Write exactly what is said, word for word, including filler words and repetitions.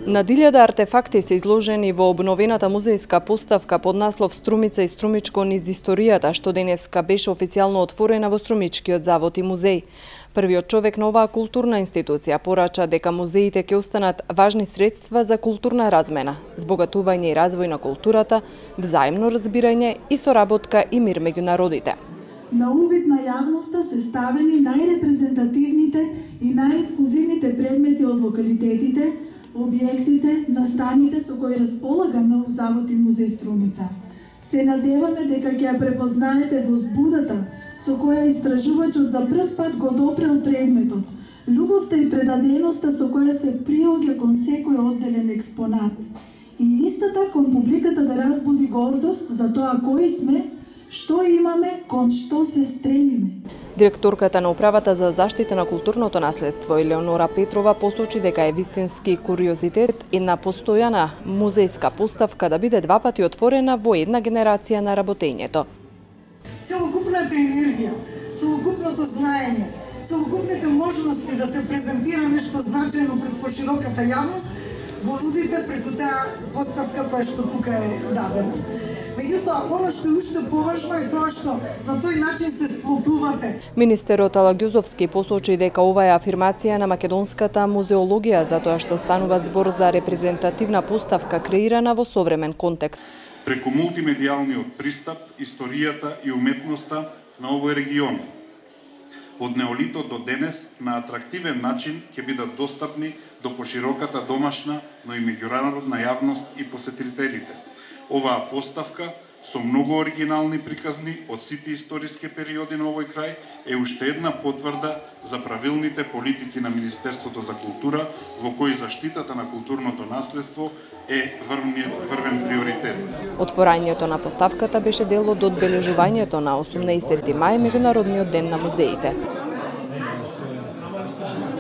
Над илјада артефакти се изложени во обновената музејска поставка под наслов Струмица и Струмичко низ историјата, што денеска беше официјално отворена во Струмичкиот завод и музеј. Првиот човек на оваа културна институција порача дека музеите ќе останат важни средства за културна размена, збогатување и развој на културата, взаимно разбирање и соработка и мир меѓу народите. На увид на јавноста се ставени најрепрезентативните и најексклузивните предмети од локалитетите, објектите, настаните со кои располага нов завод и музеј Струмица. Се надеваме дека ќе ја препознаете возбудата со која истражувачот за прв пат го допрел предметот, љубовта и предаденоста со која се приоѓа кон секој одделен експонат и истата кон публиката да разбуди гордост за тоа кои сме, што имаме, кон што се стремиме. Директорката на Управата за заштита на културното наследство Елеонора Петрова посочи дека е вистински куриозитет една постојана музејска поставка да биде два пати отворена во една генерација на работењето. Целокупната енергија, целокупното знаење, целокупните можности да се презентира нешто значајно пред пошироката јавност го нудите преку таа поставка која што тука е дадена. Меѓутоа, оно што е уште поважно е тоа што на тој начин се сплотувате. Министерот Ала Ѓузовски посочи дека ова е афирмација на македонската музеологија, затоа што станува збор за репрезентативна поставка креирана во современ контекст. Преку мултимедијалниот пристап, историјата и уметноста на овој регион, од неолитот до денес на атрактивен начин ќе бидат достапни до пошироката домашна, но и меѓународна јавност и посетителите. Оваа поставка со многу оригинални приказни од сите историски периоди на овој крај е уште една потврда за правилните политики на Министерството за култура, во кои заштитата на културното наследство е врвен, врвен приоритет. Отворањето на поставката беше дел од одбележувањето на осумнаесетти мај, меѓународниот ден на музеите.